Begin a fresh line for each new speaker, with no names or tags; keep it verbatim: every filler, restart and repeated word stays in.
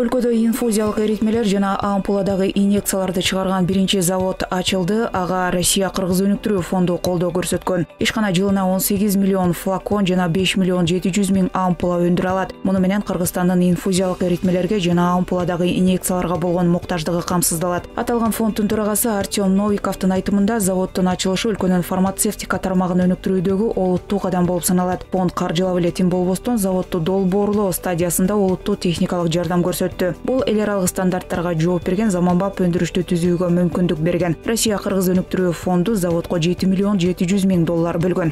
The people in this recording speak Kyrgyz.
Өлкөдө инфузиялык эритмелер жана ампуладагы инъекцияларды чыгарган биринчи завод ачылды. Ага Россия Кыргыз өнүктүрүү фонду колдоо көрсөткөн. Ишкана жылына он сегиз миллион флакон жана беш миллион жети жүз миң ампула өндүрө алат. Муну менен Кыргызстандын инфузиялык эритмелерге жана ампуладагы инъекцияларга болгон муктаждыгы камсыздалат. Аталган фонддун төрагасы Артем Новиковдун айтымында, заводдун ачылышы өлкөнүн фармацевтика тармагын өнүктүрүүдөгү олуттуу кадам болуп саналат. Фонд каржылап эле тим болбостон заводду долбоорлоо стадиясында олуттуу техникалык жардам көрсөттү. Бул эл аралык стандарттарга жооп берген заманбап өндүрүштү түзүүгө мүмкүндүк берген. Россия Кыргыз өнүктүрүү фонду заводко жети миллион жети жүз миң доллар бөлгөн.